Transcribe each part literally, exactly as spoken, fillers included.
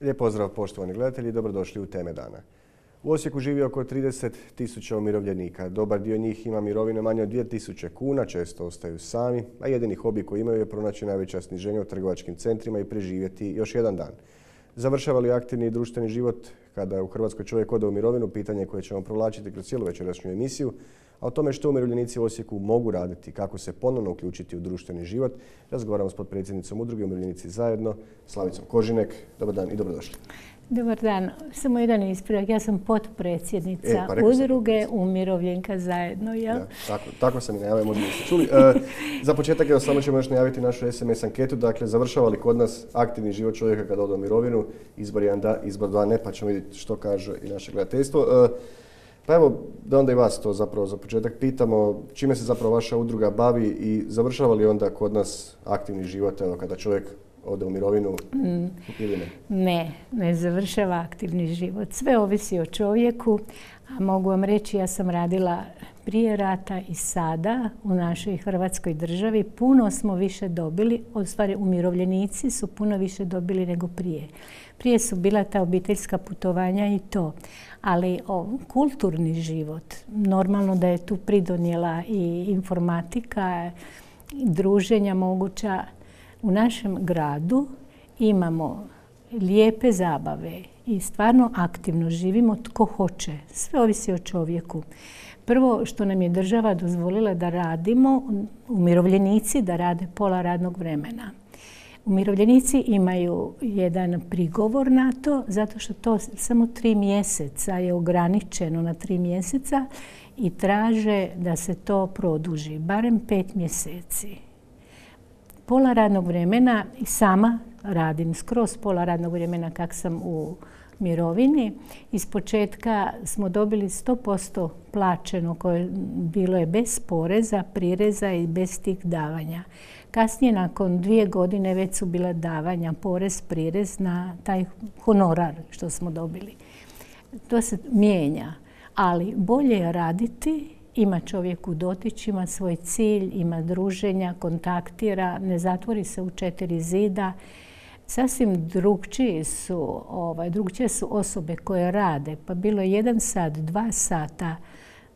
Lijep pozdrav poštovani gledatelji i dobrodošli u Teme dana. U Osijeku živi oko trideset tisuća umirovljenika. Dobar dio njih ima mirovine manje od dvije tisuće kuna, često ostaju sami, a jedini hobi koji imaju je pronaći najveća sniženja u trgovačkim centrima i preživjeti još jedan dan. Završava li aktivni i društveni život kada u Hrvatskoj čovjek ode u mirovinu, pitanje koje ćemo provlačiti kroz cijelu večerašnju emisiju, a o tome što umirovljenici u Osijeku mogu raditi, kako se ponovno uključiti u društveni život, razgovaramo s potpredsjednicom udruge Umirovljenici zajedno, Slavicom Kožinek. Dobar dan i dobrodošli. Dobar dan. Samo jedan ispravak. Ja sam potpredsjednica e, pa udruge sam Umirovljenka zajedno. Jel? Da, tako, tako sam i najavio, možda niste čuli. E, za početak evo, samo ćemo još najaviti našu es em es anketu. Dakle, završava li kod nas aktivni život čovjeka kada ode u mirovinu? Izbor jedan da, izbor dva ne, pa ćemo vidjeti što kaže i naše gledateljstvo. E, pa evo, da onda i vas to zapravo za početak pitamo. Čime se zapravo vaša udruga bavi i završava li onda kod nas aktivni život evo, kada čovjek ode u mirovinu mm. ili ne? Ne, ne završava aktivni život. Sve ovisi o čovjeku, a mogu vam reći, ja sam radila prije rata i sada u našoj Hrvatskoj državi. Puno smo više dobili, u stvari umirovljenici su puno više dobili nego prije. Prije su bila ta obiteljska putovanja i to, ali o, kulturni život, normalno da je tu pridonijela i informatika, i druženja moguća. U našem gradu imamo lijepe zabave i stvarno aktivno živimo tko hoće. Sve ovisi o čovjeku. Prvo što nam je država dozvolila da radimo, umirovljenici da rade pola radnog vremena. Umirovljenici imaju jedan prigovor na to, zato što to samo tri mjeseca je ograničeno na tri mjeseca i traže da se to produži, barem pet mjeseci. Pola radnog vremena i sama radim skroz pola radnog vremena kak sam u mirovini. Iz početka smo dobili sto posto plaćeno koje bilo je bez poreza, prireza i bez tih davanja. Kasnije nakon dvije godine već su bila davanja, porez, prirez na taj honorar što smo dobili. To se mijenja, ali bolje je raditi. Ima čovjek u dotić, ima svoj cilj, ima druženja, kontaktira, ne zatvori se u četiri zida. Sasvim drugčije su, ovaj, drugčije su osobe koje rade. Pa bilo je jedan sat, dva sata.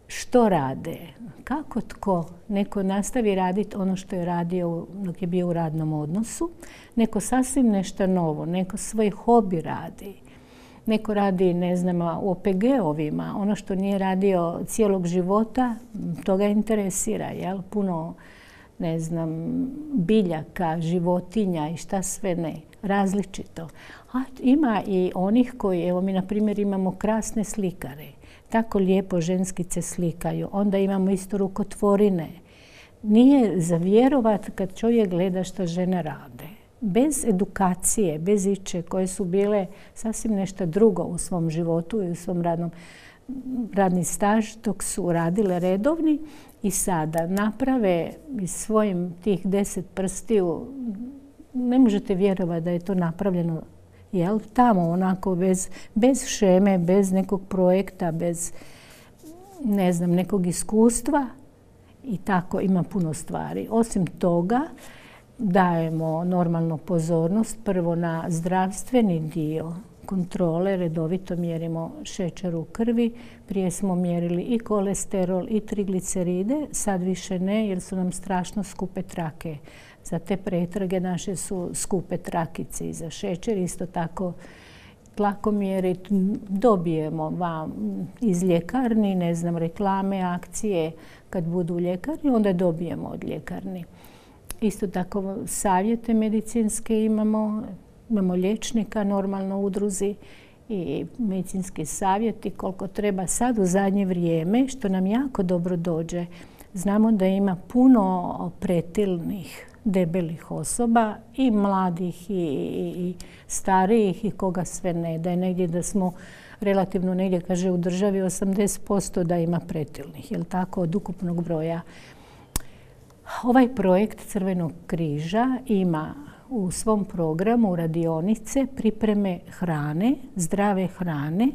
Što rade? Kako tko? Neko nastavi raditi ono što je radio dok je bio u radnom odnosu. Neko sasvim nešto novo, neko svoj hobi radi. Neko radi, ne znam, u o pe ge ovima, ono što nije radio cijelog života, to ga interesira, jel? Puno, ne znam, biljaka, životinja i šta sve ne, različito. A ima i onih koji, evo mi na primjer imamo krasne slikare, tako lijepo ženskice slikaju, onda imamo isto rukotvorine. Nije za vjerovat kad čovjek gleda što žene rade. Bez edukacije, bez iče koje su bile sasvim nešto drugo u svom životu i u svom radnom, radni staž dok su radile redovni i sada naprave iz svojim tih deset prstiju, ne možete vjerovati da je to napravljeno jel, tamo onako bez, bez šeme, bez nekog projekta, bez ne znam, nekog iskustva i tako ima puno stvari. Osim toga, dajemo normalnu pozornost prvo na zdravstveni dio kontrole, redovito mjerimo šećer u krvi. Prije smo mjerili i kolesterol i trigliceride, sad više ne jer su nam strašno skupe trake. Za te pretrage naše su skupe trakice i za šećer. Isto tako tlakomjeri dobijemo vam iz ljekarni, ne znam, reklame, akcije kad budu u ljekarni, onda dobijemo od ljekarni. Isto tako savjete medicinske imamo, imamo liječnika normalno u udruzi i medicinski savjeti koliko treba sad u zadnje vrijeme, što nam jako dobro dođe. Znamo da ima puno pretilnih, debelih osoba i mladih i, i, i starijih i koga sve ne. Da je negdje da smo relativno negdje, kaže u državi osamdeset posto da ima pretilnih, jel tako, od ukupnog broja. Ovaj projekt Crvenog križa ima u svom programu radionice pripreme hrane, zdrave hrane.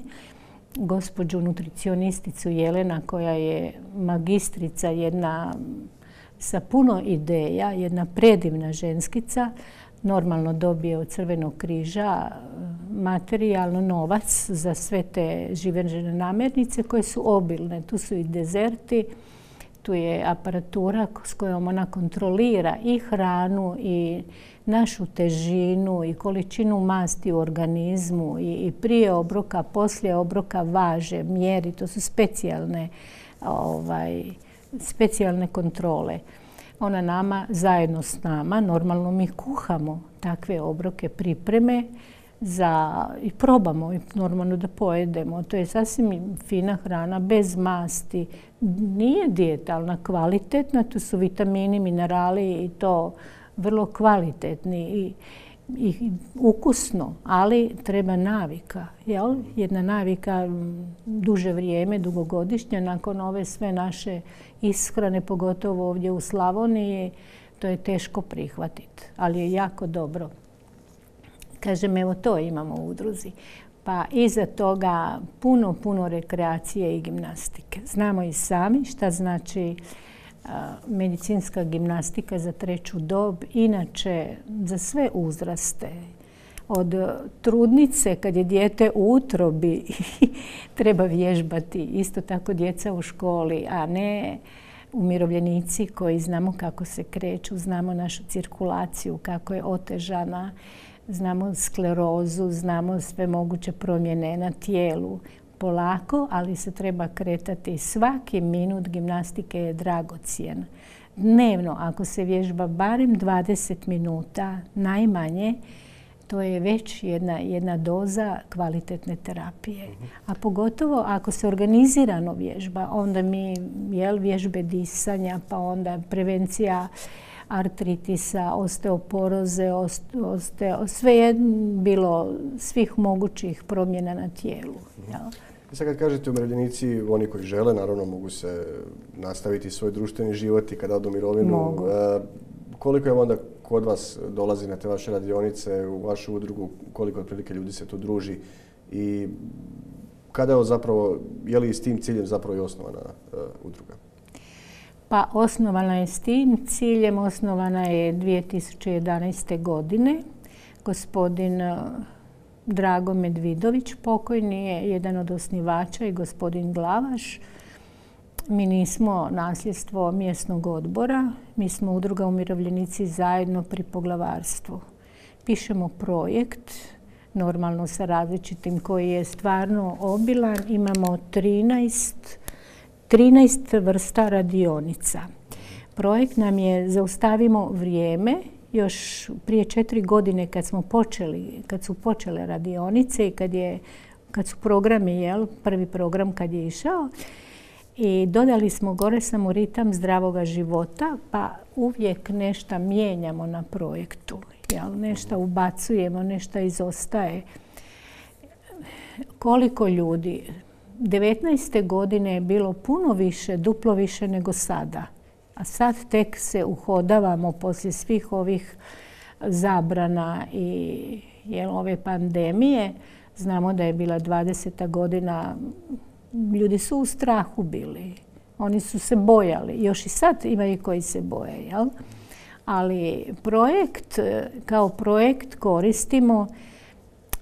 Gospođu nutricionisticu Jelena koja je magistrica, jedna sa puno ideja, jedna predivna ženskica, normalno dobije od Crvenog križa materijalno novac za sve te živežne namirnice koje su obilne. Tu su i dezerti, tu je aparatura s kojom ona kontrolira i hranu i našu težinu i količinu masti u organizmu i, i prije obroka, poslije obroka važe, mjeri. To su specijalne, ovaj, specijalne kontrole. Ona nama, zajedno s nama, normalno mi kuhamo takve obroke, pripreme za, i probamo i normalno da pojedemo. To je sasvim fina hrana, bez masti. Nije dijetalna, kvalitetna, tu su vitamini, minerali i to vrlo kvalitetni i, i ukusno, ali treba navika. Jel? Jedna navika duže vrijeme, dugogodišnja, nakon ove sve naše ishrane, pogotovo ovdje u Slavoniji, to je teško prihvatiti, ali je jako dobro. Kažem, evo to imamo u udruzi. Pa iza toga puno, puno rekreacije i gimnastike. Znamo i sami šta znači medicinska gimnastika za treću dob, inače za sve uzraste. Od trudnice, kad je dijete u utrobi, treba vježbati. Isto tako djeca u školi, a ne umirovljenici koji znamo kako se kreću, znamo našu cirkulaciju, kako je otežana, znamo sklerozu, znamo sve moguće promjene na tijelu. Polako, ali se treba kretati. Svaki minut gimnastike je dragocjen. Dnevno, ako se vježba barem dvadeset minuta, najmanje, to je već jedna, jedna doza kvalitetne terapije. A pogotovo ako se organizirano vježba, onda mi jel, vježbe disanja, pa onda prevencija artritisa, osteoporoze, osteo, sve je bilo svih mogućih promjena na tijelu. Jel? I sad kad kažete umirovljenici, oni koji žele, naravno mogu se nastaviti svoj društveni život i kada odu u mirovinu. Mogu. E, koliko je onda kod vas dolazi na te vaše radionice, u vašu udrugu, koliko otprilike ljudi se tu druži i kada je zapravo, je li s tim ciljem zapravo i osnovana e, udruga? Pa osnovana je s tim ciljem, osnovana je dvije tisuće jedanaeste. godine. Gospodin Drago Medvidović, pokojni, je jedan od osnivača i gospodin Glavaš. Mi nismo nasljedstvo mjesnog odbora, mi smo udruga Umirovljenici zajedno pri poglavarstvu. Pišemo projekt, normalno sa različitim, koji je stvarno obilan. Imamo trinaest, trinaest vrsta radionica. Projekt nam je Zaustavimo vrijeme. Još prije četiri godine kad smo počeli, kad su počele radionice i kad, je, kad su programi, jel, prvi program kad je išao, i dodali smo gore samo ritam zdravoga života, pa uvijek nešto mijenjamo na projektu. Jel, nešto ubacujemo, nešto izostaje. Koliko ljudi? devetnaeste. godine je bilo puno više, duplo više nego sada. A sad tek se uhodavamo poslije svih ovih zabrana i jel, ove pandemije. Znamo da je bila dvadeseta godina, ljudi su u strahu bili. Oni su se bojali. Još i sad imaju koji se boje. Jel? Ali projekt, kao projekt koristimo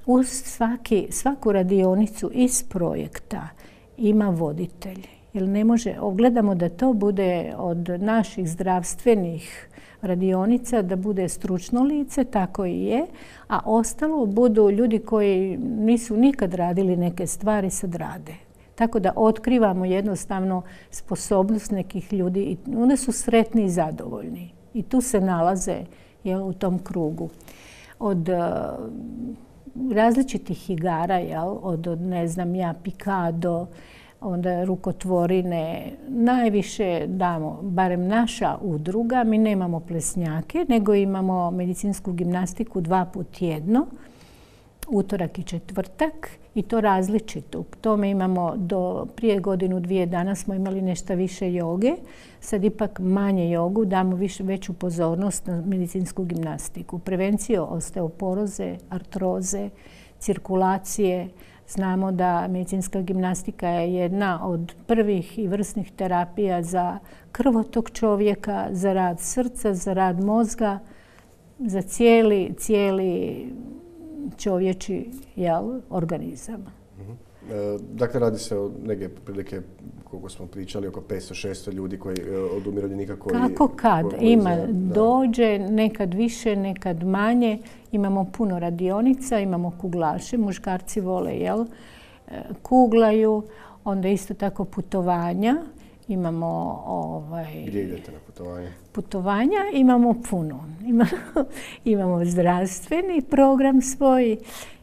uz svaki, svaku radionicu iz projekta ima voditelj. Jer ne može, gledamo da to bude od naših zdravstvenih radionica, da bude stručno lice, tako i je, a ostalo budu ljudi koji nisu nikad radili neke stvari, sad rade. Tako da otkrivamo jednostavno sposobnost nekih ljudi i onda su sretni i zadovoljni. I tu se nalaze, jel, u tom krugu. Od uh, različitih igara, jel, od, od ne znam ja, pikado, onda rukotvorine, najviše damo, barem naša udruga, mi nemamo plesnjake, nego imamo medicinsku gimnastiku dva put tjedno, utorak i četvrtak, i to različito. U tome imamo do prije godinu, dvije dana smo imali nešto više joge, sad ipak manje jogu, damo više, veću pozornost na medicinsku gimnastiku. Prevenciju osteoporoze, artroze, cirkulacije. Znamo da medicinska gimnastika je jedna od prvih i vrsnih terapija za krvotok čovjeka, za rad srca, za rad mozga. za cijeli, cijeli čovječi, jel, organizam. Uh-huh. E, dakle, radi se o neke prilike, koliko smo pričali, oko petsto šesto ljudi koji, od umirovljenika koji... Kako kad? Koji, koji Ima, za, dođe, nekad više, nekad manje. Imamo puno radionica, imamo kuglaše, muškarci vole, jel, kuglaju. Onda isto tako putovanja. Imamo ovaj... Gdje idete na putovanje? Putovanja imamo puno. Imamo, imamo zdravstveni program svoj,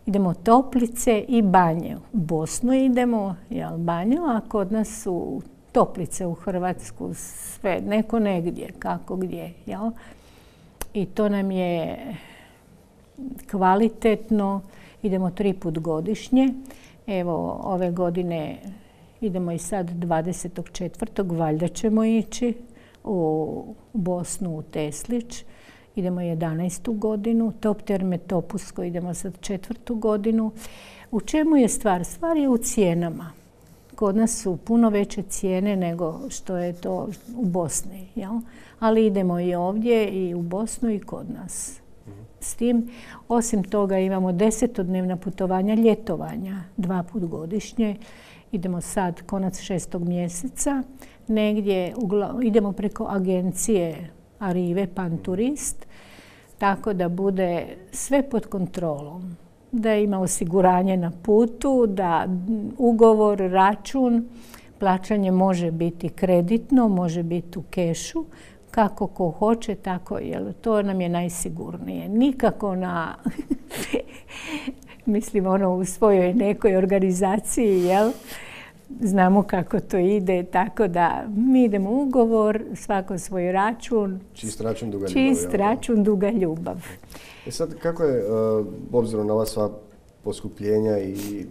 idemo toplice i banje. U Bosnu idemo, jel, banju, a kod nas su toplice u Hrvatsku, sve, neko negdje, kako gdje, jel? I to nam je kvalitetno, idemo tri put godišnje. Evo, ove godine idemo i sad dvadesetog četvrtog valjda ćemo ići u Bosnu, u Teslić. Idemo jedanaestu godinu, Top Terme Topusko idemo sad četvrtu godinu. U čemu je stvar? Stvar je u cijenama. Kod nas su puno veće cijene nego što je to u Bosni, jel? Ali idemo i ovdje i u Bosnu i kod nas. S tim, osim toga imamo desetodnevna putovanja ljetovanja, dva put godišnje. Idemo sad konac šestog mjeseca, negdje idemo preko agencije Arrive Pan Turist, tako da bude sve pod kontrolom. Da ima osiguranje na putu, da ugovor, račun, plaćanje može biti kreditno, može biti u kešu, kako ko hoće, tako, jer to nam je najsigurnije. Nikako na, mislim, ono u svojoj nekoj organizaciji, jel? Znamo kako to ide, tako da mi idemo u ugovor, svako svoj račun. Čist račun, duga ljubav. Čist račun, duga ljubav. E sad, kako je, uh, obzirom na ova sva poskupljenja i,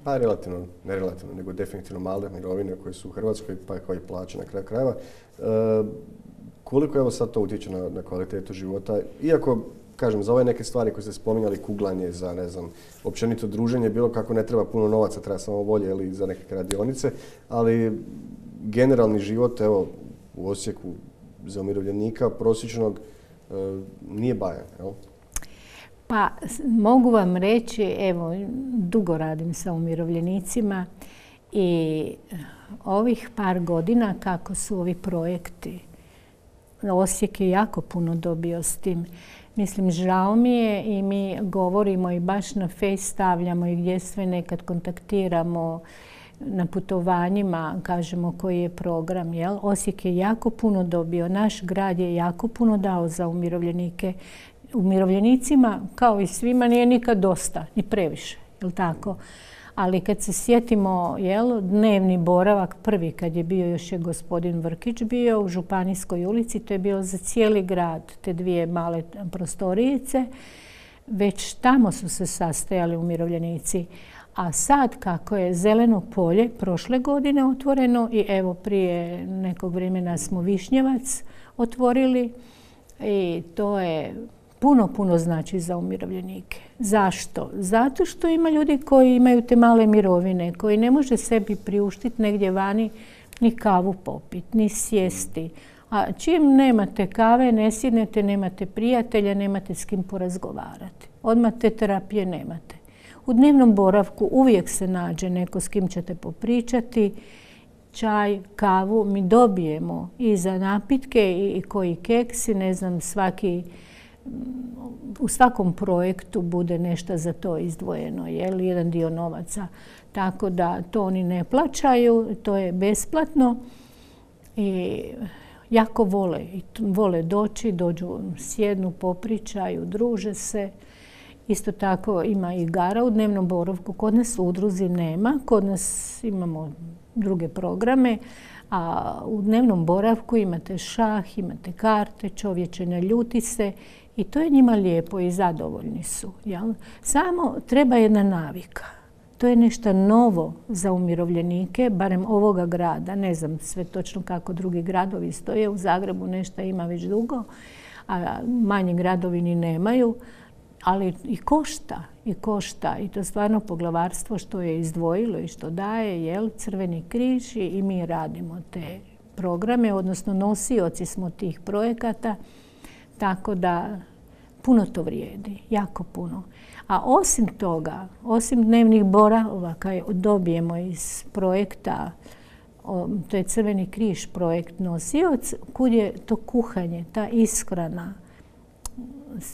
pa relativno, ne relativno, nego definitivno male mirovine koje su u Hrvatskoj, pa kao i plaće na kraju krajeva, uh, koliko evo sad to utječe na, na kvalitetu života? Iako, kažem, za ove neke stvari koje ste spominjali, kuglanje, za, ne znam, općenito druženje, bilo kako ne treba puno novaca, treba samo volje ili za neke radionice, ali generalni život, evo, u Osijeku za umirovljenika prosječnog e, nije bajan, jel? Pa, mogu vam reći, evo, dugo radim sa umirovljenicima i ovih par godina kako su ovi projekti, Osijek je jako puno dobio s tim. Mislim, žao mi je i mi govorimo i baš na Face stavljamo i gdje sve nekad kontaktiramo na putovanjima, kažemo koji je program. Jel? Osijek je jako puno dobio, naš grad je jako puno dao za umirovljenike. Umirovljenicima, kao i svima, nije nikad dosta, ni previše, jel tako? Ali kad se sjetimo, jel, dnevni boravak prvi, kad je bio, još je gospodin Vrkić bio u Županijskoj ulici, to je bilo za cijeli grad, te dvije male prostorijice, već tamo su se sastajali umirovljenici. A sad, kako je Zeleno polje prošle godine otvoreno i evo prije nekog vremena smo Višnjevac otvorili i to je puno, puno znači za umirovljenike. Zašto? Zato što ima ljudi koji imaju te male mirovine, koji ne može sebi priuštiti negdje vani ni kavu popiti, ni sjesti. A čim nemate kave, ne sjednete, nemate prijatelja, nemate s kim porazgovarati. Odmah te terapije nemate. U dnevnom boravku uvijek se nađe neko s kim ćete popričati, čaj, kavu, mi dobijemo i za napitke i koji keksi, ne znam, svaki, u svakom projektu bude nešto za to izdvojeno, jel, jedan dio novaca. Tako da to oni ne plaćaju, to je besplatno i jako vole, vole doći, dođu, sjednu, popričaju, druže se. Isto tako ima igara u dnevnom boravku. Kod nas u udruzi nema, kod nas imamo druge programe, a u dnevnom boravku imate šah, imate karte, čovječe ne ljuti se i to je njima lijepo i zadovoljni su. Jel? Samo treba jedna navika. To je nešto novo za umirovljenike, barem ovoga grada. Ne znam sve točno kako drugi gradovi stoje. U Zagrebu nešto ima već dugo, a manji gradovi ni nemaju. Ali i košta, i košta. I to stvarno poglavarstvo što je izdvojilo i što daje, jel, Crveni križ i mi radimo te programe, odnosno nosioci smo tih projekata. Tako da puno to vrijedi, jako puno. A osim toga, osim dnevnih boravaka dobijemo iz projekta, to je Crveni križ projekt nosioc, kud je to kuhanje, ta ishrana.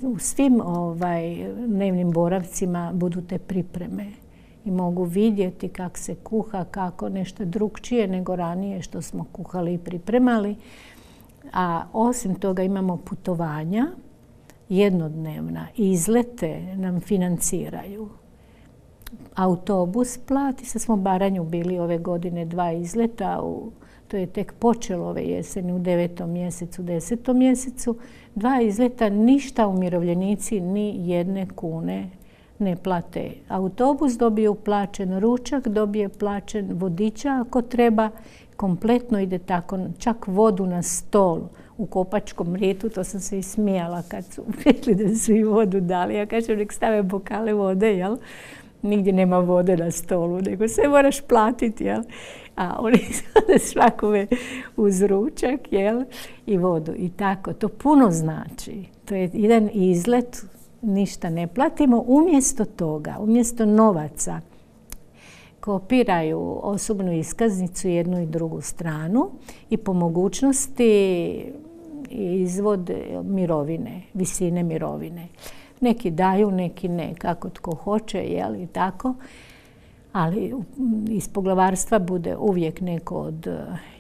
U svim ovaj, dnevnim boravcima budu te pripreme i mogu vidjeti kako se kuha, kako nešto drukčije nego ranije što smo kuhali i pripremali. A osim toga imamo putovanja, jednodnevna, izlete nam financiraju. Autobus plati, sad smo Baranju bili ove godine dva izleta, u, to je tek počelo ove jeseni u devetom mjesecu, desetom mjesecu. Dva izleta, ništa umirovljenici ni jedne kune ne plate. Autobus dobije plaćen ručak, dobije plaćen vodiča ako treba, kompletno ide tako, čak vodu na stol u Kopačkom rijetu, to sam se i smijala kad su rekli da su i vodu dali. Ja kažem, nek stave bokale vode, jel? Nigdje nema vode na stolu, nego sve moraš platiti, jel? A oni sada svakome uz ručak, jel? I vodu. I tako, to puno znači. To je jedan izlet, ništa ne platimo. Umjesto toga, umjesto novaca, kopiraju osobnu iskaznicu jednu i drugu stranu i po mogućnosti izvode mirovine, visine mirovine. Neki daju, neki ne, kako tko hoće, jel, i tako. Ali iz poglavarstva bude uvijek neko od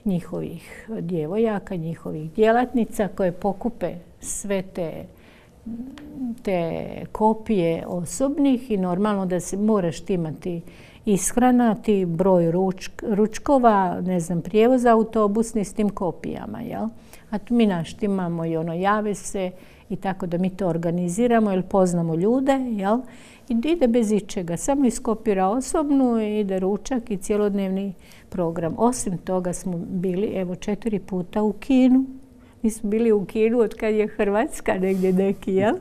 njihovih djevojaka, njihovih djelatnica koje pokupe sve te, te kopije osobnih i normalno da se moraš imati ishrana, ti broj ručk, ručkova, ne znam, prijevoz autobusni s tim kopijama, jel? A tu mi naštimamo i ono, jave se i tako da mi to organiziramo jer poznamo ljude, jel? I ide bez ičega, samo iskopira osobnu, ide ručak i cijelodnevni program. Osim toga smo bili, evo, četiri puta u kinu. Mi smo bili u kinu od kad je Hrvatska negdje neki, jel?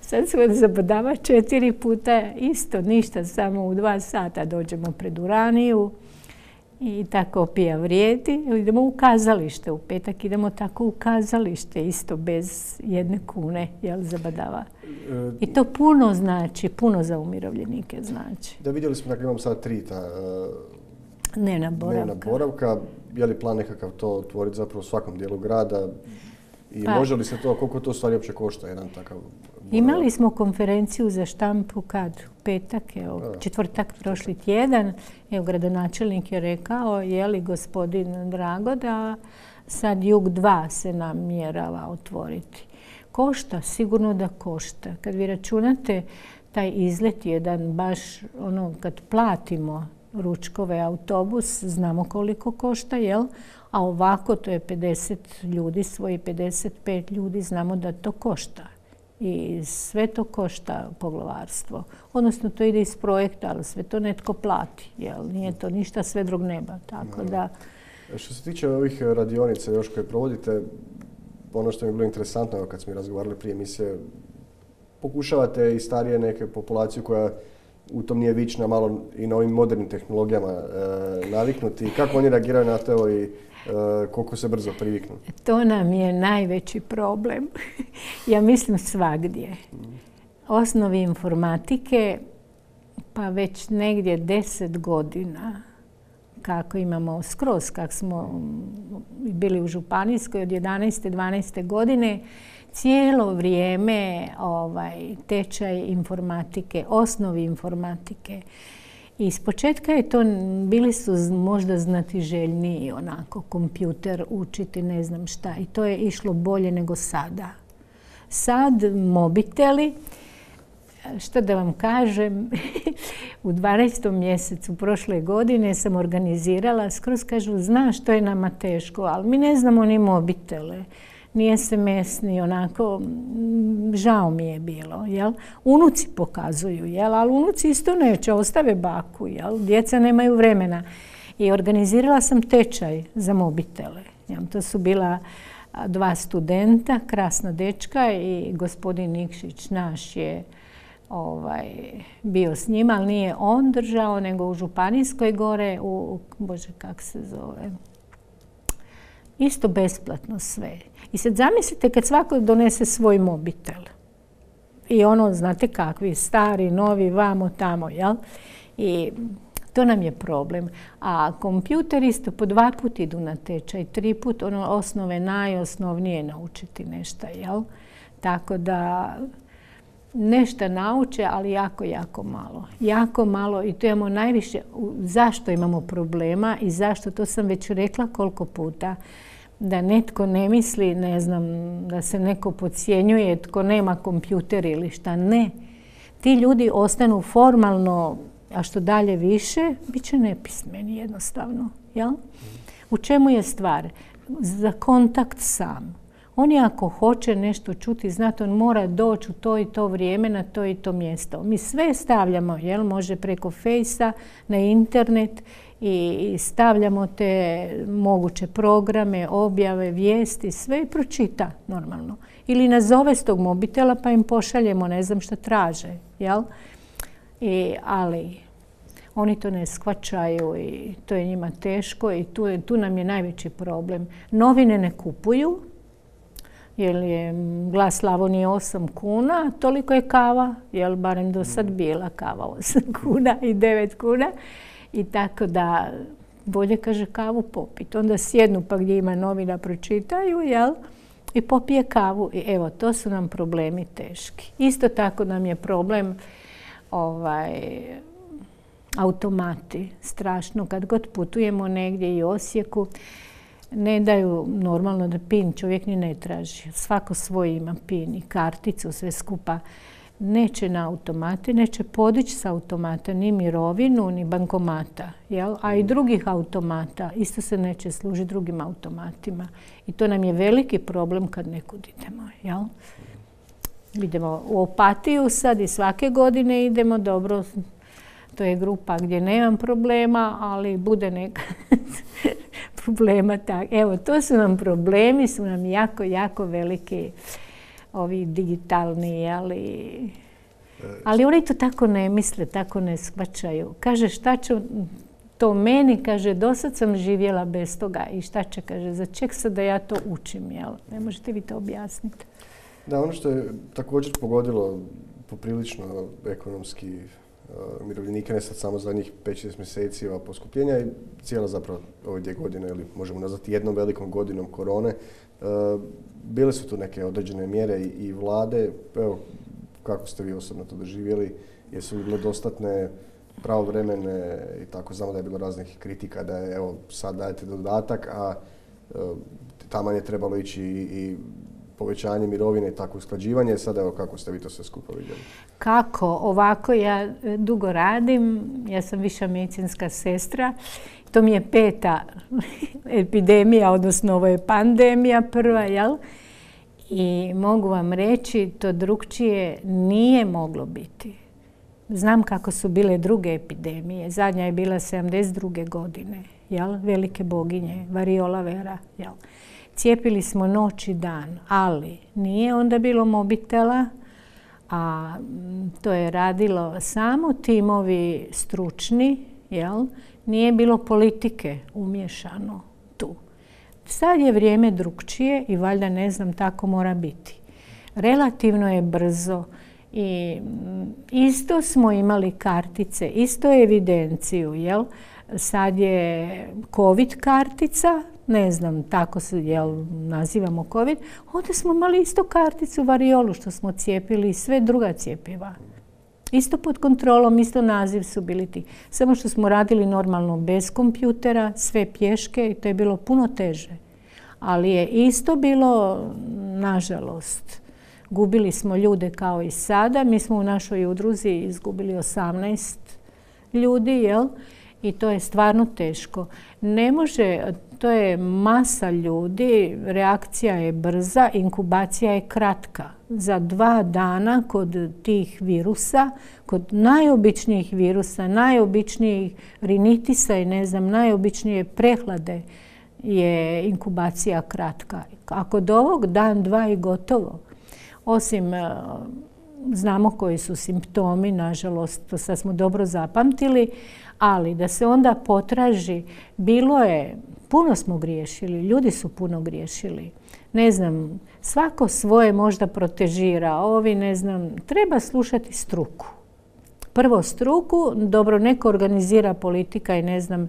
Sad smo zabadava četiri puta, isto, ništa, samo u dva sata dođemo pred Uraniju i ta kopija vrijedi. Idemo u kazalište, u petak idemo tako u kazalište, isto bez jedne kune, jel, zabadava. I to puno znači, puno za umirovljenike znači. Da, vidjeli smo, dakle, imamo sad tri ta dnevna boravka. Dnevna boravka. Je li plan nekakav to otvoriti zapravo u svakom dijelu grada? I pa, može li se to, koliko to stvari uopće košta, jedan takav boravak? Imali smo konferenciju za štampu kad? U petak, evo, četvrtak prošli tjedan. Evo, gradonačelnik je rekao, je li gospodin Drago, da sad Jug dva se namjerava otvoriti. Košta, sigurno da košta. Kad vi računate taj izlet jedan, baš ono, kad platimo ručkove, autobus, znamo koliko košta, jel? A ovako to je pedeset ljudi, svoji pedeset pet ljudi, znamo da to košta. I sve to košta poglavarstvo. Odnosno, to ide iz projekta, ali sve to netko plati, jel? Nije to ništa sve drug neba, tako da... Što se tiče ovih radionica još koje provodite, ono što mi je bilo interesantno kad smo razgovarali prije emisije, pokušavate i starije neke populaciju koja u tom nije vična, malo i na ovim modernim tehnologijama e, naviknuti. Kako oni reagiraju na to i e, koliko se brzo priviknu? To nam je najveći problem. Ja mislim svagdje. Osnovi informatike, pa već negdje deset godina, kako imamo skroz, kako smo bili u županijskoj od jedanaeste dvanaeste godine, cijelo vrijeme ovaj, tečaj informatike, osnovi informatike. I iz početka je to, bili su možda znatiželjniji onako, kompjuter učiti, ne znam šta. I to je išlo bolje nego sada. Sad mobiteli, što da vam kažem, u dvanaestom mjesecu prošle godine sam organizirala, skroz kažu, znaš što je nama teško, ali mi ne znamo ni mobitele, ni es em es, ni onako, žao mi je bilo, jel? Unuci pokazuju, jel? Ali unuci isto neće, ostave baku, jel? Djeca nemaju vremena. I organizirala sam tečaj za mobitele. Jel? To su bila dva studenta, krasna dečka i gospodin Nikšić naš je Ovaj, bio s njima, ali nije on držao, nego u Županijskoj gore, u, bože, kak se zove, isto besplatno sve. I sad zamislite kad svako donese svoj mobitel. I ono, znate kakvi, stari, novi, vamo, tamo, jel? I to nam je problem. A kompjuter isto po dva put idu na tečaj, tri put, ono osnove najosnovnije naučiti nešto, jel? Tako da nešto nauče, ali jako, jako malo. Jako malo i to imamo najviše. Zašto imamo problema i zašto, to sam već rekla koliko puta, da netko ne misli, ne znam, da se neko podcjenjuje tko nema kompjuter ili šta. Ne. Ti ljudi ostanu formalno, a što dalje više, bit će nepismeni jednostavno. Jel? U čemu je stvar? Za kontakt sam. On je ako hoće nešto čuti, znate, on mora doći u to i to vrijeme na to i to mjesto. Mi sve stavljamo, jel, može preko fejsa, na internet i stavljamo te moguće programe, objave, vijesti, sve i pročita normalno. Ili nazove s tog mobitela pa im pošaljemo, ne znam šta traže, jel? I, ali oni to ne shvaćaju i to je njima teško i tu, je, tu nam je najveći problem. Novine ne kupuju, jer je Glas Slavonije osam kuna, toliko je kava, jer barem do sad bila kava osam kuna i devet kuna. I tako da bolje, kaže, kavu popiti. Onda sjednu pa gdje ima novina pročitaju, jel? I popije kavu. I evo, to su nam problemi teški. Isto tako nam je problem ovaj, automati. Strašno. Kad god putujemo negdje i Osijeku, ne daju normalno da pin čovjek ni ne traži. Svako svoj ima pin i karticu, sve skupa. Neće na automate, neće podići s automata ni mirovinu, ni bankomata. Jel? A i drugih automata isto se neće služiti drugim automatima. I to nam je veliki problem kad nekud idemo. Jel? Idemo u Opatiju sad i svake godine idemo, dobro, to je grupa gdje nemam problema, ali bude neka problema. Tak. Evo, to su nam problemi, su nam jako, jako veliki, ovi digitalni, ali, ali oni to tako ne misle, tako ne shvaćaju. Kaže, šta ću to meni, kaže, dosad sam živjela bez toga i šta će, kaže, za ček sad da ja to učim, jel? Ne možete vi to objasniti? Da, ono što je također pogodilo poprilično ekonomski umirovljenike, ne sad samo zadnjih pet šest mjeseci ova poskupljenja i cijela zapravo ove dvije godine, ili možemo nazvati jednom velikom godinom korone. Bile su tu neke određene mjere i, i vlade. Evo, kako ste vi osobno to doživjeli? Jesu li bile dostatne, pravovremene i tako? Znamo da je bilo raznih kritika da je, evo, sad dajete dodatak, a e, taman je trebalo ići i, i povećanje mirovine i tako usklađivanje. Sad, evo, kako ste vi to sve skupa vidjeli? Kako? Ovako, ja dugo radim, ja sam viša medicinska sestra. To mi je peta epidemija, odnosno ovo je pandemija prva, jel? I mogu vam reći, to drugčije nije moglo biti. Znam kako su bile druge epidemije. Zadnja je bila sedamdeset druge godine, jel? Velike boginje, variola vera, jel? Cijepili smo noć i dan, ali nije onda bilo mobitela, a to je radilo samo timovi stručni, jel? Nije bilo politike umješano tu. Sad je vrijeme drugčije i valjda, ne znam, tako mora biti. Relativno je brzo i isto smo imali kartice, isto evidenciju, jel? Sad je COVID kartica, ne znam, tako se, jel, nazivamo COVID. Onda smo imali isto karticu variolu što smo cijepili i sve druga cjepiva. Isto pod kontrolom, isto naziv su bili ti. Samo što smo radili normalno bez kompjutera, sve pješke i to je bilo puno teže. Ali je isto bilo, nažalost, gubili smo ljude kao i sada. Mi smo u našoj udruzi izgubili osamnaest ljudi, jel? I to je stvarno teško. Ne može, to je masa ljudi, reakcija je brza, inkubacija je kratka. Za dva dana kod tih virusa, kod najobičnijih virusa, najobičnijih rinitisa i ne znam, najobičnije prehlade je inkubacija kratka. A kod ovog dan, dva i gotovo. Osim znamo koji su simptomi, nažalost, to sad smo dobro zapamtili, ali da se onda potraži, bilo je, puno smo griješili, ljudi su puno griješili. Ne znam, svako svoje možda protežira, ovi ne znam, treba slušati struku. Prvo struku, dobro, neko organizira politika i ne znam,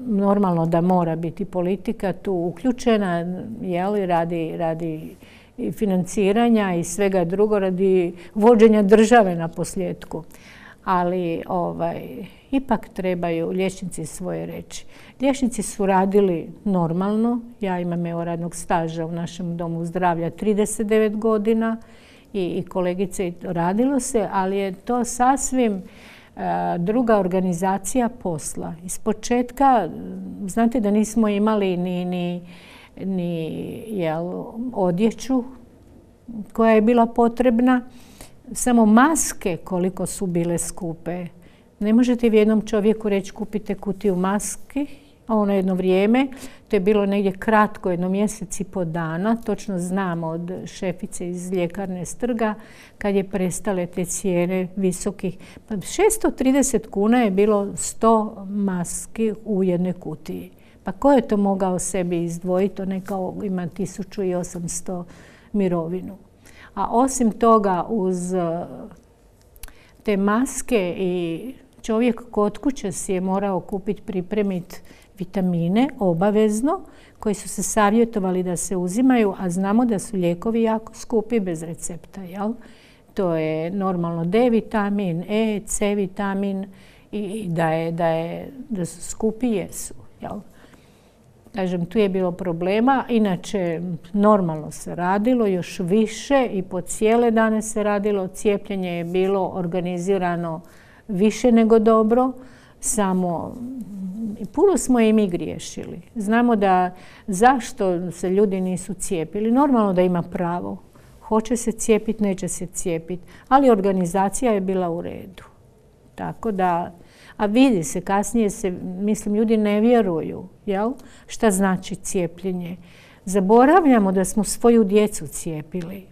normalno da mora biti politika tu uključena, jeli, radi, radi i financiranja i svega drugo, radi vođenja države na posljedku. Ali ovaj, ipak trebaju liječnici svoje reći. Liječnici su radili normalno, ja imam evo radnog staža u našem domu zdravlja trideset devet godina i, i kolegice radilo se, ali je to sasvim uh, druga organizacija posla. Ispočetka, znate da nismo imali ni, ni, ni jel, odjeću koja je bila potrebna, samo maske koliko su bile skupe. Ne možete vi jednom čovjeku reći kupite kutiju maski, a ono jedno vrijeme, to je bilo negdje kratko, jedno mjesec i po dana, točno znam od šefice iz ljekarne Strga, kad je prestale te cijene visokih. Pa šesto trideset kuna je bilo sto maski u jednoj kutiji. Pa ko je to mogao sebi izdvojiti? To nekao ima tisuću osamsto mirovinu. A osim toga, uz te maske i čovjek kod kuće si je morao kupiti, pripremiti vitamine obavezno, koji su se savjetovali da se uzimaju, a znamo da su lijekovi jako skupi bez recepta. Jel? To je normalno D vitamin, E, C vitamin i da, je, da, je, da su skupi, jesu. Jel? Kažem, tu je bilo problema, inače normalno se radilo, još više i po cijele dane se radilo. Cijepljenje je bilo organizirano više nego dobro, samo puno smo i mi griješili. Znamo da zašto se ljudi nisu cijepili, normalno da ima pravo. Hoće se cijepiti, neće se cijepiti, ali organizacija je bila u redu. Tako da, a vidi se, kasnije se, mislim, ljudi ne vjeruju, jel? Šta znači cijepljenje. Zaboravljamo da smo svoju djecu cijepili.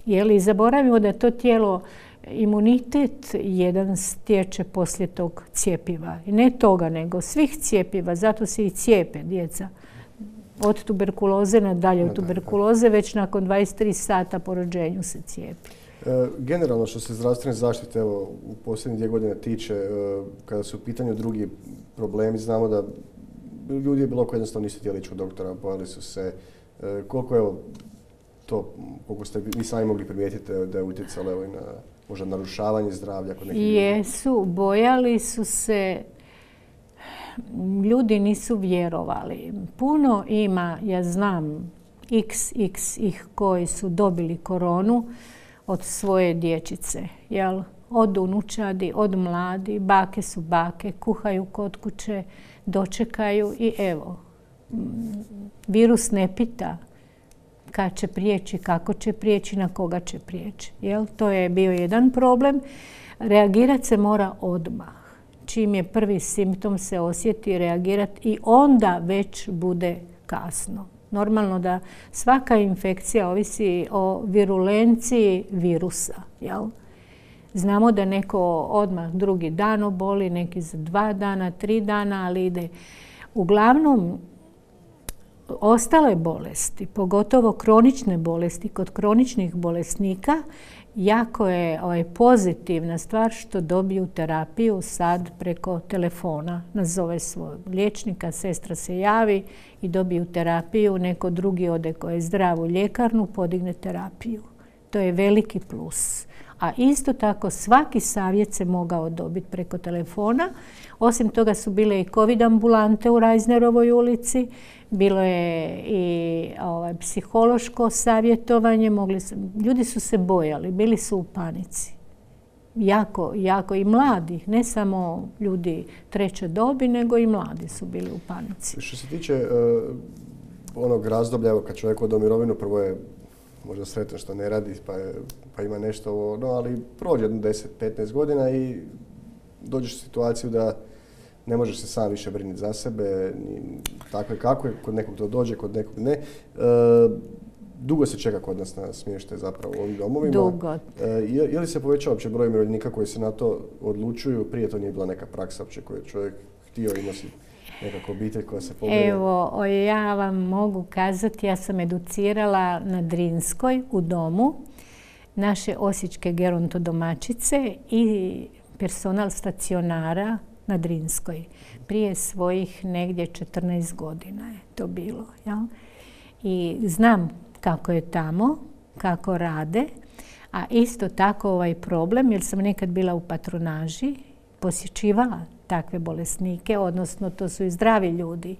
Jel? I zaboravimo da to tijelo, imunitet jedan stječe poslije tog cijepiva. I ne toga, nego svih cijepiva, zato se i cijepe djeca. Od tuberkuloze nadalje od tuberkuloze, već nakon dvadeset tri sata po rođenju se cijepi. Generalno što se zdravstvene zaštite evo, u posljednje dvije godine tiče, kada su u pitanju drugi problemi, znamo da ljudi je bilo koji jednostavno nisu htjeli ići u doktora, bojali su se. Koliko evo, to, koliko ste vi sami mogli primijetiti da je utjecalo evo, i na možda narušavanje zdravlja kod nekih ljudi? Jesu, bojali su se, ljudi nisu vjerovali. Puno ima, ja znam, iks iks ih koji su dobili koronu od svoje dječice, jel? Od unučadi, od mladi, bake su bake, kuhaju kod kuće, dočekaju i evo, virus ne pita kad će prijeći, kako će prijeći, na koga će prijeći. Jel? To je bio jedan problem. Reagirati se mora odmah. Čim je prvi simptom se osjeti, reagirati i onda već bude kasno. Normalno da svaka infekcija ovisi o virulenciji virusa. Jel? Znamo da neko odmah drugi dan oboli, neki za dva dana, tri dana, ali ide. Uglavnom, ostale bolesti, pogotovo kronične bolesti, kod kroničnih bolesnika, jako je ovaj, pozitivna stvar što dobiju terapiju sad preko telefona. Nazove svog liječnika, sestra se javi i dobiju terapiju, neko drugi ode koji je zdrav u ljekarnu, podigne terapiju. To je veliki plus. A isto tako svaki savjet se mogao dobiti preko telefona. Osim toga su bile i covid ambulante u Reisnerovoj ulici, bilo je i ovaj, psihološko savjetovanje. Mogli su, ljudi su se bojali, bili su u panici. Jako, jako i mladi, ne samo ljudi treće dobi, nego i mladi su bili u panici. Što se tiče uh, onog razdoblja, evo, kad čovjek ode u mirovinu, prvo je možda sretan što ne radi, pa, je, pa ima nešto, no, ali prođe jedno deset petnaest godina i dođeš u situaciju da ne možeš se sam više brinuti za sebe, tako je kako je, kod nekog to dođe, kod nekog ne. E, dugo se čeka kod nas na smještaj zapravo u ovim domovima. Dugo. Je, je li se povećao uopće broj umirovljenika koji se na to odlučuju? Prije to nije bila neka praksa uopće koju je čovjek htio imati nekako obitelj koja se pobrine? Evo, ja vam mogu kazati, ja sam educirala na Drinskoj u domu naše osječke gerontodomaćice i personal stacionara na Drinskoj. Prije svojih negdje četrnaest godina je to bilo. Jel? I znam kako je tamo, kako rade, a isto tako ovaj problem, jer sam nekad bila u patronaži, posjećivala takve bolesnike, odnosno to su i zdravi ljudi.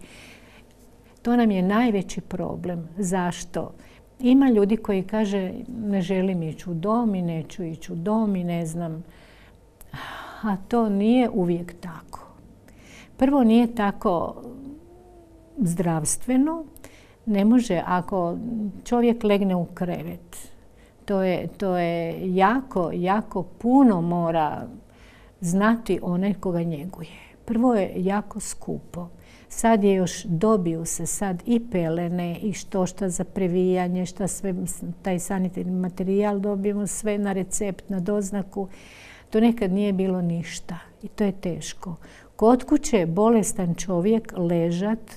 To nam je najveći problem. Zašto? Ima ljudi koji kaže ne želim ići u dom i neću ići u dom i ne znam. A to nije uvijek tako. Prvo nije tako zdravstveno. Ne može ako čovjek legne u krevet. To je, to je jako, jako puno mora znati onaj koga njeguje. Prvo je jako skupo. Sad je još, dobiju se sad i pelene i što šta za previjanje, šta sve, taj sanitarni materijal dobijemo sve na recept, na doznaku. To nekad nije bilo ništa i to je teško. Kod kuće bolestan čovjek ležat,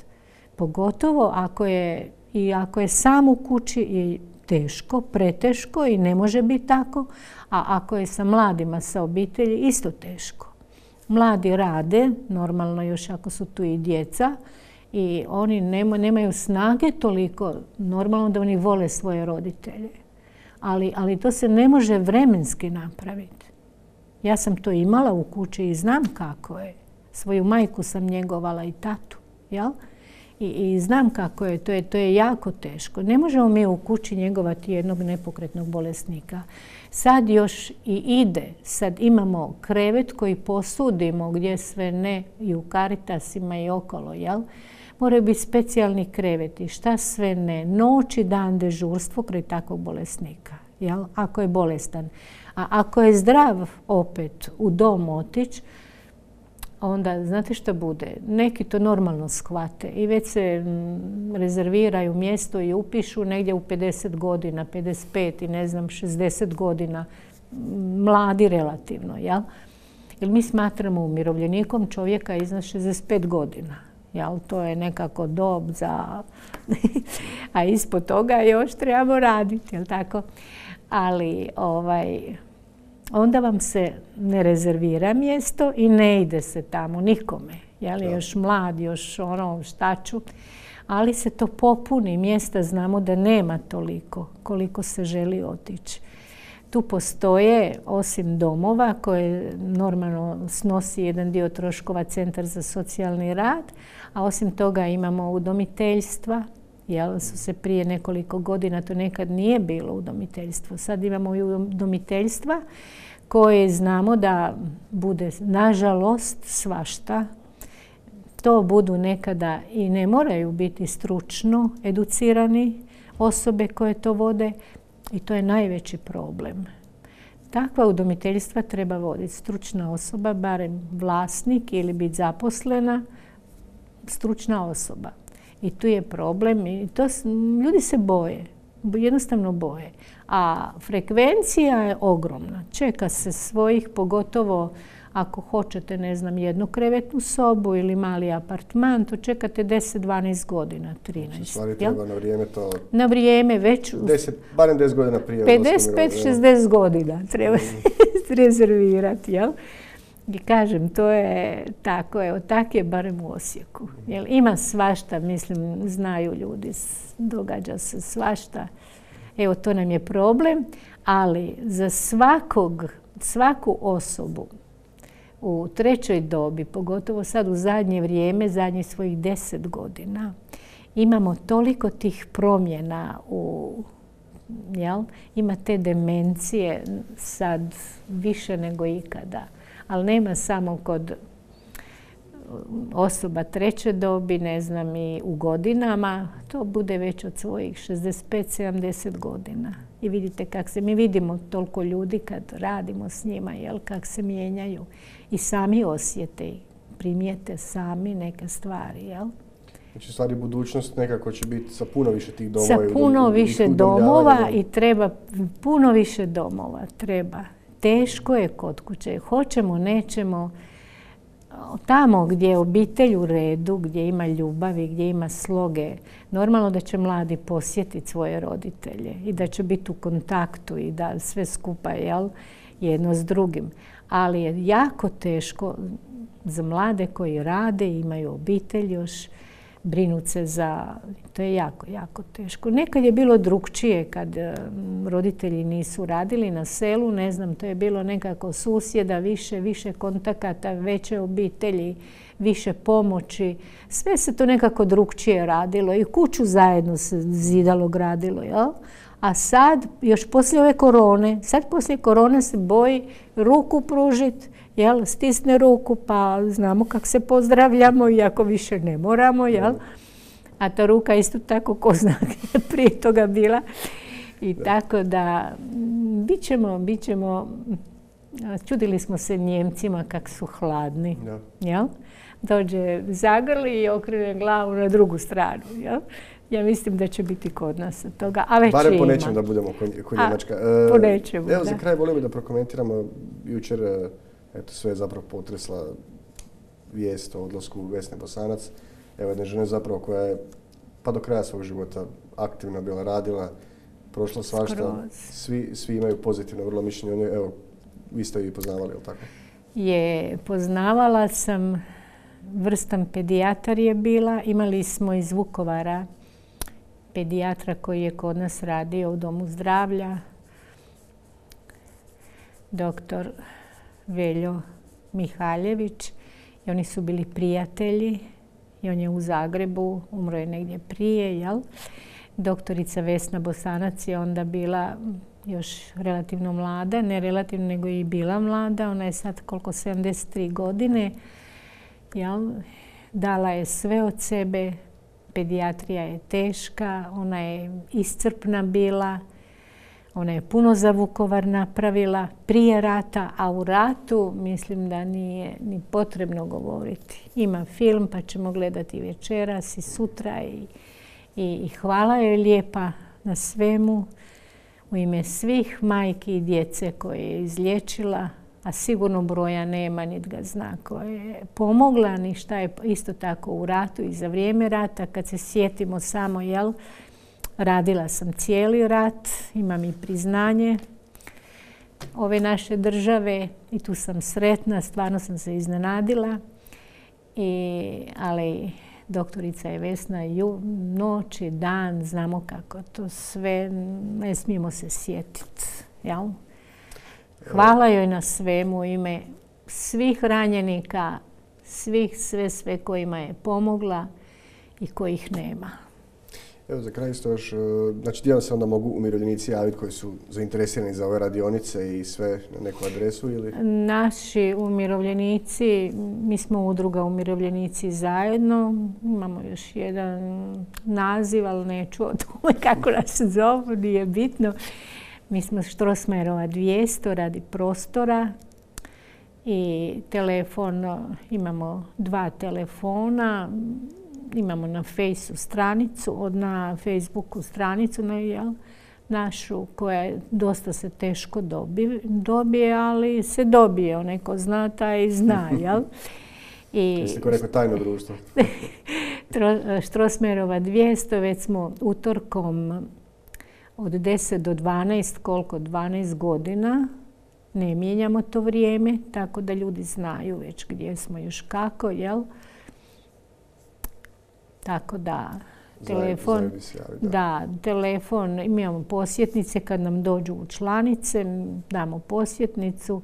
pogotovo ako je, i ako je sam u kući, je teško, preteško i ne može biti tako, a ako je sa mladima, sa obitelji, isto teško. Mladi rade, normalno još ako su tu i djeca, i oni nemaju snage toliko, normalno da oni vole svoje roditelje. Ali, ali to se ne može vremenski napraviti. Ja sam to imala u kući i znam kako je. Svoju majku sam njegovala i tatu, jel? I, i znam kako je to, je, to je jako teško. Ne možemo mi u kući njegovati jednog nepokretnog bolesnika. Sad još i ide, sad imamo krevet koji posudimo gdje sve ne, i u Caritasima i okolo, jel? Moraju biti specijalni kreveti, šta sve ne, noć i dan dežurstvo kraj takvog bolesnika, jel? Ako je bolestan. A ako je zdrav opet u dom otići, onda znate što bude? Neki to normalno shvate i već se rezerviraju mjesto i upišu negdje u pedeset godina, pedeset pet i ne znam, šezdeset godina, mladi relativno, jel? Jer mi smatramo umirovljenikom čovjeka iznad šezdeset pet godina, jel? To je nekako dob za... a ispod toga još trebamo raditi, jel tako? Ali ovaj... onda vam se ne rezervira mjesto i ne ide se tamo nikome. Je li još mlad, još ono šta ću. Ali se to popuni. Mjesta znamo da nema toliko koliko se želi otići. Tu postoje, osim domova koje normalno snosi jedan dio troškova Centar za socijalni rad, a osim toga imamo udomiteljstva. Jel, su se prije nekoliko godina, to nekad nije bilo udomiteljstvo. Sad imamo i udomiteljstva koje znamo da bude, nažalost, svašta. To budu nekada i ne moraju biti stručno educirani osobe koje to vode i to je najveći problem. Takva udomiteljstva treba voditi stručna osoba, barem vlasnik ili biti zaposlena, stručna osoba. I tu je problem i to, ljudi se boje, jednostavno boje. A frekvencija je ogromna. Čeka se svojih, pogotovo ako hoćete, ne znam, jednu krevetnu sobu ili mali apartman, to čekate deset dvanaest godina, trinaest. Stvari treba na vrijeme to... Na vrijeme već... deset, barem deset godina prije. pedeset pet šezdeset godina treba se rezervirati, jel? I kažem, to je tako, evo, tak je barem u Osijeku. Jel, ima svašta, mislim, znaju ljudi, događa se svašta. Evo, to nam je problem, ali za svakog, svaku osobu u trećoj dobi, pogotovo sad u zadnje vrijeme, zadnjih svojih deset godina, imamo toliko tih promjena u... Jel? Ima te demencije sad više nego ikada. Ali nema samo kod osoba treće dobi, ne znam, i u godinama. To bude već od svojih šezdeset pet sedamdeset godina. I vidite kako se, mi vidimo toliko ljudi kad radimo s njima, jel, kako se mijenjaju. I sami osjete, primijete sami neke stvari, jel? Znači, stvari budućnost nekako će biti sa puno više tih domova. Sa puno više domova i treba puno više domova. Treba. Teško je kod kuće. Hoćemo, nećemo. Tamo gdje je obitelj u redu, gdje ima ljubavi, gdje ima sloge, normalno da će mladi posjetiti svoje roditelje i da će biti u kontaktu i da sve skupa, jel, jedno s drugim. Ali je jako teško za mlade koji rade i imaju obitelj još, brinuti se za... To je jako, jako teško. Nekad je bilo drukčije kad roditelji nisu radili na selu, ne znam, to je bilo nekako susjeda, više, više kontakata, veće obitelji, više pomoći. Sve se to nekako drukčije radilo i kuću zajedno se zidalo, gradilo, jel? A sad, još poslije ove korone, sad poslije korone se boji ruku pružiti, jel, stisne ruku pa znamo kako se pozdravljamo iako više ne moramo, jel? A ta ruka isto tako ko zna je prije toga bila. I da. Tako da bit ćemo, bit ćemo, čudili smo se Njemcima kako su hladni, da. Jel? Dođe zagrli i okrene glavu na drugu stranu, jel? Ja mislim da će biti kod nas toga, a već barem po ima. nečem da budemo ko Njemačka. E, po nečemu, Evo, da. Za kraj volio bi da prokomentiramo jučer, eto, sve je zapravo potresla vijest o odlasku Vesne Bosanac. Evo, jedne žene zapravo koja je pa do kraja svog života aktivno bila radila, prošla svašta. Svi, svi imaju pozitivno vrlo mišljenje o njoj. Evo, vi ste ju poznavali, je li tako? Je, poznavala sam, vrstan pedijatar je bila. Imali smo iz Vukovara pedijatra koji je kod nas radio u Domu zdravlja, doktor Veljo Mihaljević. I oni su bili prijatelji i on je u Zagrebu, umro je negdje prije, jel? Doktorica Vesna Bosanac je onda bila još relativno mlada, ne relativno nego i bila mlada. Ona je sad koliko sedamdeset tri godine, jel? Dala je sve od sebe. Pedijatrija je teška, ona je iscrpna bila, ona je puno za Vukovar napravila prije rata, a u ratu mislim da nije ni potrebno govoriti. Ima film pa ćemo gledati večeras i sutra i, i, i hvala joj lijepa na svemu u ime svih majki i djece koje je izliječila, a sigurno broja nema, niti ga zna, koja je pomogla, ni šta je isto tako u ratu i za vrijeme rata. Kad se sjetimo samo, jel, radila sam cijeli rat, imam i priznanje ove naše države i tu sam sretna, stvarno sam se iznenadila. I, ali doktorica je Vesna ju, noć i dan, znamo kako to sve, ne smijemo se sjetiti, jel? Hvala joj na svemu u ime svih ranjenika, svih sve sve kojima je pomogla i kojih nema. Evo za kraj isto još, znači gdje se onda mogu umirovljenici javiti koji su zainteresirani za ove radionice i sve na neku adresu ili? Naši umirovljenici, mi smo udruga Umirovljenici zajedno, imamo još jedan naziv, ali neću o tome kako nas zovu, nije bitno. Mi smo Strossmayerova dvjesto radi prostora i telefon, imamo dva telefona, imamo na Fejsu stranicu, na Facebooku stranicu na, jel, našu koja je dosta se teško dobije, dobije, ali se dobije, onaj ko zna taj zna, jel? Jeste ko neko tajno društvo? Strossmayerova dvjesto, već smo utorkom od deset do dvanaest, koliko? dvanaest godina. Ne mijenjamo to vrijeme, tako da ljudi znaju već gdje smo još kako, jel? Tako da, telefon, javi, da. da, telefon, imamo posjetnice kad nam dođu u članice, damo posjetnicu.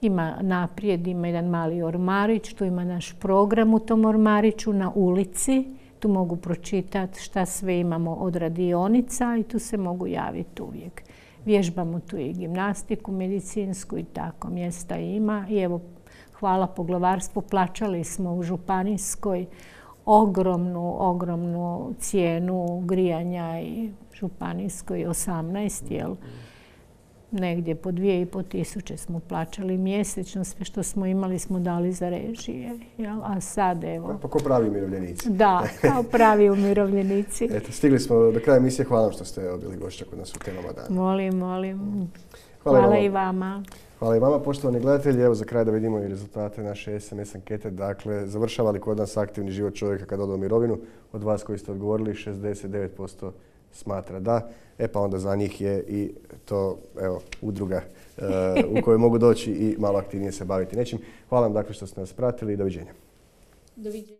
Ima naprijed, ima jedan mali ormarić, tu ima naš program u tom ormariću na ulici. Tu mogu pročitati šta sve imamo od radionica i tu se mogu javiti uvijek. Vježbamo tu i gimnastiku, medicinsku i tako, mjesta ima. I evo, hvala poglavarstvu, plaćali smo u županijskoj ogromnu, ogromnu cijenu grijanja i županijskoj osamnaest, jel? negdje po dvije i po tisuće smo plaćali mjesečno, sve što smo imali smo dali za režije. Jel? A sad evo... Pa ko pravi umirovljenici. Da, kao pravi umirovljenici. Eto, stigli smo do kraja emisije. Hvala vam što ste bili gošća kod nas u Temama dana. Molim, molim. Hvala, Hvala i i vama. Hvala i vama, poštovani gledatelji. Evo za kraj da vidimo i rezultate naše es em es ankete. Dakle, završava li kod nas aktivni život čovjeka kad ode u mirovinu? Od vas koji ste odgovorili, šezdeset devet posto smatra da. E pa onda za njih je i to, evo, udruga uh, u kojoj mogu doći i malo aktivnije se baviti nečim. Hvala vam dakle što ste nas pratili i doviđenja. Doviđenja.